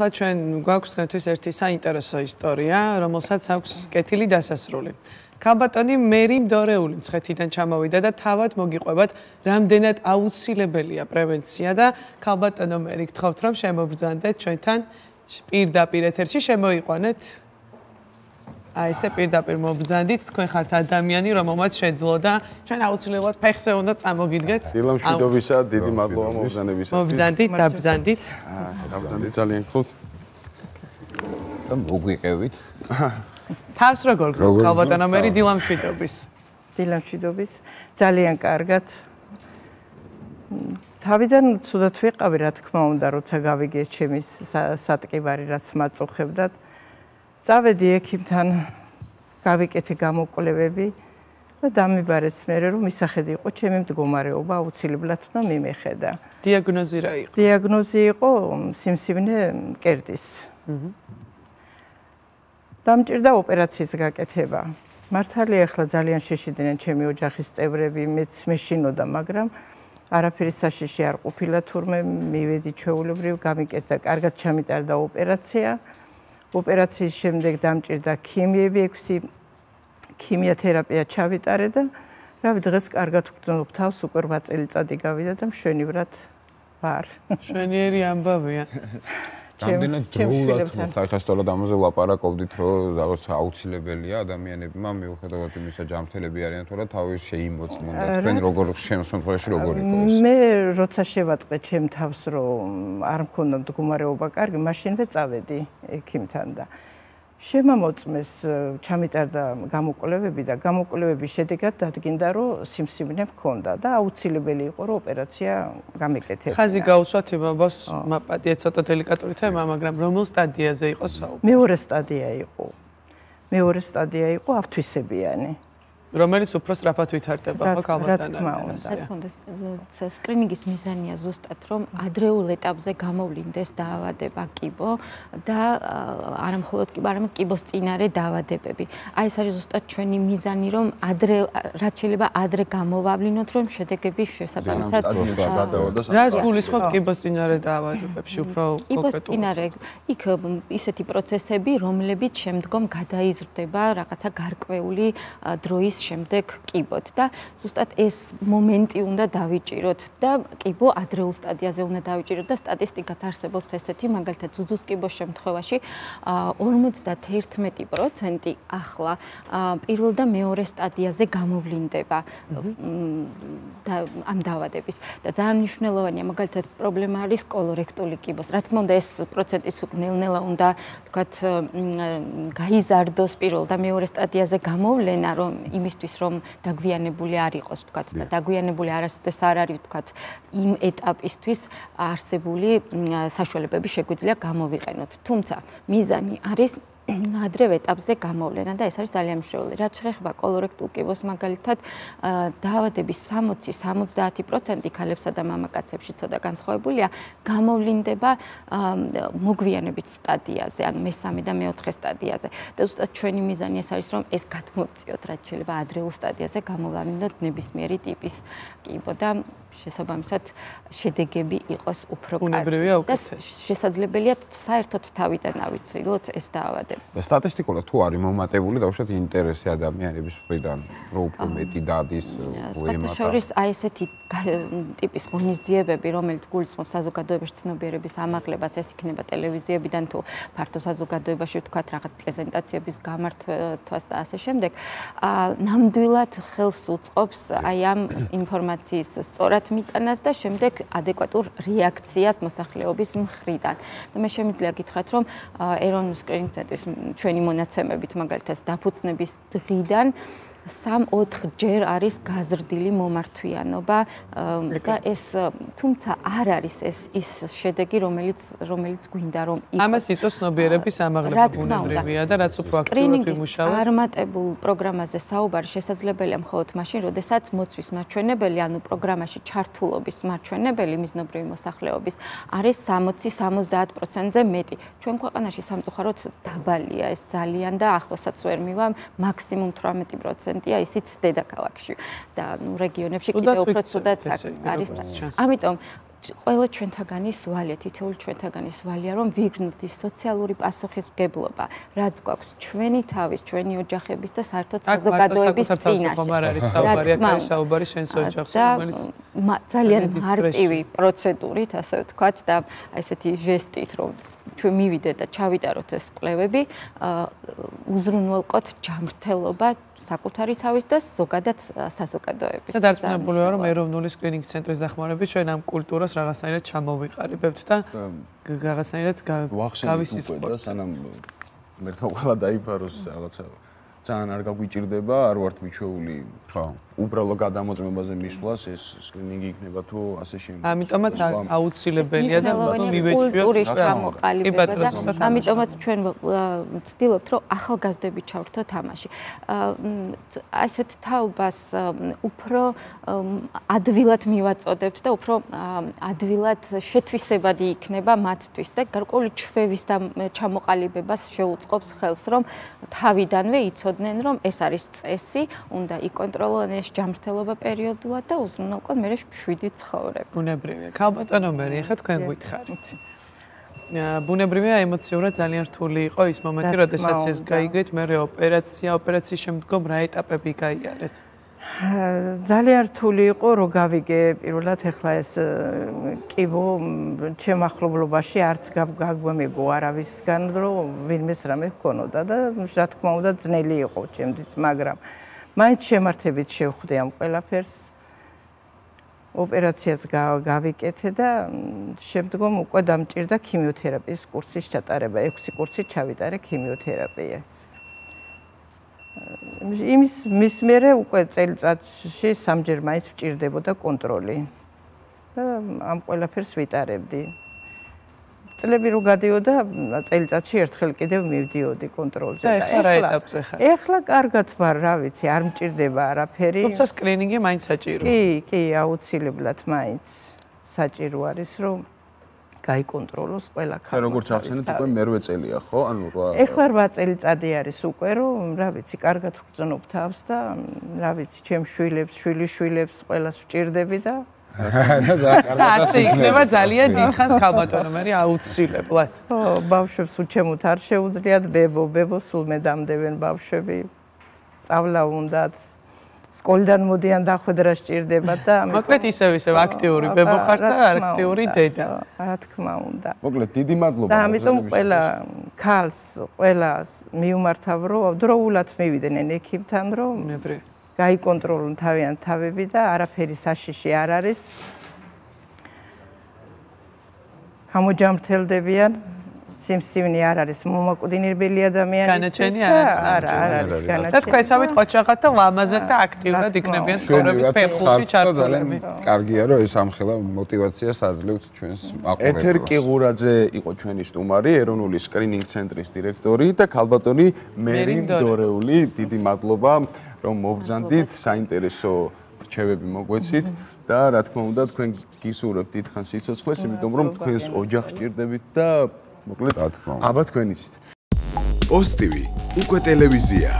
ჩვენ გვაქვს თქვენთვის ერთი საინტერესო ისტორია, რომელსაც აქვს კეთილი დასასრული. ქალბატონი მერი მდორეული მცხეთიდან ჩამოვიდა და თავად მოგიყვებათ, რამდენად აუცილებელია პრევენცია და ქალბატონო მერი გთხოვთ, რომ შემობრძანდეთ ჩვენთან პირდაპირ ეთერში შემოიყვანეთ. აი ესე პირდაპირ მობრძანდით, თქვენ ხართ ადამიანი, რომელმაც შეძლო და ჩვენ აუცილებლად ფეხზე უნდა წამოგიდგეთ. დილამშვიდობისა, დიდი მადლობა მობრძანებისათვის. მობრძანდით, დაბრძანდით. დაბრძანდით ძალიან გთხოვთ. და მოგვიყევით. თავს როგორ გზავთ ქალბატონო მერი დილამშვიდობის. დილამშვიდობის. ძალიან კარგად. თავიდან ცუდად ვიყავი, რა თქმა უნდა, როცა გავიგე ჩემი სატკივარი, რაც მაწუხებდათ. წავედი ექიმთან, გავიკეთე გამოკვლევები და დამიბარეს მე, რომ მისახედი იყო ჩემი მდგომარეობა, აუცილებლად უნდა მიმეხედა. დიაგნოზი რა იყო? დიაგნოზი იყო სიმსივნე მკერდის. დამჭირდა ოპერაციის გაკეთება. მართალია, ახლა ძალიან შეშიდნენ ჩემი ოჯახის წევრები, მეც მეშინოდა, მაგრამ არაფერი საშიში არ ყოფილა, თურმე მივედი ჩვეულებრივ, გამიკეთდა, კარგად ჩამიტარდა ოპერაცია. ოპერაციის შემდეგ დამჭირდა ქიმიები 6 ქიმიოთერაპია ჩავიტარე და რავი დღეს კარგად ვგრძნობ თავს, უკვე 8 წელიწადი გავიდა და მშვენივრად ვარ. მშვენიერი ამბავია. რამდენად დროულად მოხდა, ახლა სწორად ამაზე ვლაპარაკობდით, რომ რაღაც აუცილებელია ადამიანებმა მიუხედავად იმისა, ჯანმრთელები არიან თუ არა, თავის შეიმოწმონ და თქვენ როგორ შემოსმენში როგორ იყო ეს? მე როცა შევატყე ჩემ თავს, რომ არ მქონდა მდგომარეობა კარგი, მაშინვე წავედი ექიმთან და შემამოწმეს, ჩამიტარდა გამოკვლევები და გამოკვლევების შედეგად დადგინდა, რომ სიმსივნე მქონდა და აუცილებელი იყო, რომ ოპერაცია გამეკეთებინა. ხაზი გაუსვათ იმაბოს მაპატია ცოტა დელიკატური თემა, მაგრამ რომელ სტადიაზე იყო საუბარი? მეორე სტადია იყო. მეორე სტადია იყო ავთვისებიანი. რომელიც უფრო სწრაფად ვითარდება ხო ქალბატონებთან? რა თქმა უნდა, სკრინინგის მიზანია ზუსტად, რომ ადრეულ ეტაპზე გამოვლინდეს დაავადება კიბო და არა მხოლოდ კიბო, არამედ კიბოს წინარე დაავადებები. აი ეს არის ზუსტად ჩვენი მიზანი, რომ რაც შეიძლება ადრე გამოვავლინოთ, რომ შედეგები შესაბამისად რას გულისხმობთ კიბოს წინარე დაავადებებში უფრო კონკრეტულად? კიბოს წინარე იქ ისეთი პროცესები, რომლებიც შემდგომ გადაიზრდება რაღაცა გარკვეული დროის შემდეგ კიბოთ და ზუსტად ეს მომენტი უნდა დავიჭიროთ და კიბო ადრეულ სტადიაზე უნდა დავიჭიროთ და სტატისტიკაც არსებობს ესეთი, მაგალითად ძუძუს კიბოს შემთხვევაში 51% ახლა პირველ და მეორე სტადიაზე გამოვლინდება ამ დაავადების და ძალიან მნიშვნელოვანია, მაგალითად პრობლემა არის კოლორექტული კიბოს. რა თქმა უნდა, ეს პროცენტიც ნელ-ნელა უნდა თქვათ გაიზარდოს პირველ და მეორე სტადიაზე გამოვლენა, რომ იმისთვის რომ დაგვიანებული არ იყოს თქვათ და დაგვიანებული არასოდეს არ არის თქვათ იმ ეტაპისთვის არსებული საშუალებები შეგვიძლია გამოვიყენოთ. თუმცა მიზანი არის ადრევ ეტაპზე გამოვლენა და ეს არის ძალიან მნიშვნელოვანი. რაც შეეხება კოლორექტულ კიბოს მაგალითად დაავადების 60-70% ქალებსა და მამაკაცებში ცოტა განსხვავებულია, გამოვლინდება მოგვიანებით სტადიაზე, ანუ მესამე და მეოთხე სტადიაზე. და ზუსტად ჩვენი მიზანი ეს არის, რომ ეს გადმოვწიოთ, რაც შეიძლება ადრეულ სტადიაზე გამოვლინდოთ ნებისმიერი ტიპის კიბო და შესაბამისად შედეგები იყოს უფრო კარგი. და შესაძლებელია საერთოდ თავიდან ავიცილოთ ეს დაავადება. და სტატისტიკურად თუ არის მომატებული დაუშვათ ინტერესი ადამიანების მხრიდან, რომ უფრო მეტი დადის უემატა. შორის აი ესეთი ტიპის ღონისძიებები, რომელიც გულისხმობს საზოგადოებაში ცნობიერების ამაღლებას, ეს იქნება ტელევიზიებიდან თუ ფართო საზოგადოებაში ვთქვათ რაღაც პრეზენტაციების გამართვას და ასე შემდეგ, ნამდვილად ხელს უწყობს აი ამ ინფორმაციის სწორად მიტანას და შემდეგ ადეკვატურ რეაქციას მოსახლეობის მხრიდან. და მე შემიძლია გითხრათ, რომ ეროვნულ სკრინინგ ცენტრის ჩვენი მონაცემებით მაგალითად დაფუძნების დღიდან 3-4 ჯერ არის გაზრდილი მომართვიანობა და ეს თუმცა არ არის ის შედეგი, რომელიც გვინდა რომ იყოს. ამას იწვევს ცნობიერების ამაღლება ბუნებრივია და რაც უფრო აქტიურად ვიმუშავებთ. წარმატებულ პროგრამაზე საუბარი შესაძლებელია მხოლოდ მაშინ, როდესაც მოცვის მაჩვენებელი, ანუ პროგრამაში ჩართულობის მაჩვენებელი მიზნობრივი მოსახლეობის არის 60-70%-ზე მეტი. ჩვენ ქვეყანაში სამწუხაროდ დაბალია ეს ძალიან და ახლოსაც ვერ მივა, მაქსიმუმ 18%. ისიც დედაქალაქში და რეგიონებში კიდევ უფრო ცუდად არის. ამიტომ ყველა ჩვენთაგანის ვალია, თითოეული ჩვენთაგანის ვალია, რომ ვიგრძნოთ ის სოციალური პასუხისმგებლობა, რაც გვაქვს ჩვენი თავის, ჩვენი ოჯახების და საერთოდ საზოგადოების წინაშე. საუბარი შენს ოჯახს, რომელიც ძალიან მარტივი პროცედურით, ასე ვთქვათ, და ესეთი ჟესტით, რომ ჩვენ მივიდეთ და ჩავიტაროთ ეს კვლევები, უზრუნველყოთ ჯანმრთელობა საკუთარი თავის და ზოგადად საზოგადოების. და დარწმუნებული ვარ, რომ ეროვნული სკრინინგ ცენტრის დახმარებით ჩვენ ამ კულტურას რაღაცნაირად ჩამოვიყალიბებთ და რაღაცნაირად გავისიზღვროთ. სანამ მერტო ყველა დაიფაროს რაღაცა ძალიან არ გაგვიჭირდება, არ ვართ მიჩვეული უბრალო გადამოწმებაზე მისვლას, ეს სკრინინგი იქნება თუ ასე შემდეგ. ამიტომაც აუცილებელია და კულტურის ჩამოყალიბება და ამიტომაც ჩვენ ვცდილობთ, რომ ახალგაზრდები ჩავრთოთ თამაში. ასეთ თაობას უფრო ადვილად მივაწოდებთ და უფრო ადვილად შეთვისებადი იქნება მათთვის და გარკვეული ჩვევის და ჩამოყალიბებას შეუწყობს ხელს, რომ თავიდანვე იცოდნენ, რომ ეს არის წესი, უნდა იკონტროლონ ეს ჯანმრთელობა პერიოდულად და უზრუნველყონ მერე მშვიდი ცხოვრება. ბუნებრივია. ქალბატონო მერი, ეხლა თქვენ გვითხარით. ბუნებრივია ემოციურად ძალიან რთული იყო ის მომენტი, როდესაც ეს გაიგეთ, მერე ოპერაციის შემდგომ რა ეტაპები გაიარეთ? ძალიან რთული იყო, რომ გავიგე პირველად ეხლა ეს კიბო ჩემ ახლობლობაში არც გაგვამეგო არავისგან, რომ ვინმეს რამე ჰქონოდა და რა თქმა უნდა ძნელი იყო ჩემთვის, მაგრამ მაინც შემართებით შევხვდი ამ ყველაფერს. ოპერაციას გავიკეთე და შემდგომ უკვე დამჭირდა ქიმიოთერაპიის კურსის ჩატარება. 6 კურსი ჩავიტარე ქიმიოთერაპიას. მის მერე უკვე წელიწადში 3-ჯერ მაინც მჭირდებოდა კონტროლი და ამ ყველაფერს ვიტარებდი. წლები რო გადიოდა, წელიწადში ერთხელ კიდევ მივდიოდი კონტროლზე და ეხლა რა ეტაპზე ხარ? ეხლა კარგად ვარ, რა ვიცი, არ მჭირდება არაფერი. თუმცა სკრინინგი მაინც საჭიროა. კი, აუცილებლად მაინც საჭირო არის, რომ გაიკონტროლოს ყველა ქალი. როგორც ახსენეთ, უკვე მერვე წელია, ხო? ანუ ეხლა 8 წელიწადი არის უკვე, რომ რა ვიცი, კარგად ვგრძნობ თავს და რა ვიცი, ჩემ შვილებს ყველას ვჭირდები და ასე იქნება ძალიან დიდხანს ქალბატონო მერი აუცილებლად. ხო, ბავშვებს უჩემოთ არ შეუძლიათ ბებო სულ მე დამდებენ ბავშვები. სწავლა უნდათ. სკოლიდან მოდიან დახვედრა სჭირდება და მოკლედ ისევ აქტიური ბებო ხარ და აქტიური დედა. რა თქმა უნდა. მოკლედ დიდი მადლობა. და ამიტომ ყველა ქალს, ყველას მიუმართავ, რომ დროულად მივიდნენ ექიმთან, რომ გაიკონტროლონ თავიანთ თავები და არაფერი საშიში არ არის. გამოჯამრთელდებიან. სიმსივნე არ არის მომაკვდინებელი ადამიანისთვის და არ არის განაჩენი. და თქვენ სამით ყოჩაღად და ლამაზად და აქტიურად იქნებიან ცხოვრების ფეხულში ჩართულები. კარგია რომ ეს ამხელა მოტივაციას აძლევთ ჩვენს მაყურებლებს. ეთერ კიღურაძე იყო ჩვენი სტუმარი, ეროვნული სკრინინგ ცენტრის დირექტორი და ქალბატონი მერი მდორეული. დიდი მადლობა რომ მოვბრძანდით, საინტერესო რჩევები მოგვეცით და რა თქმა უნდა თქვენ გისურვებთ დიდხანს სიცოცხლეს, იმიტომ რომ თქვენს ოჯახს ჭირდებით და მოკლედ აბა თქვენ იცით. პოსტივი უკვე ტელევიზია.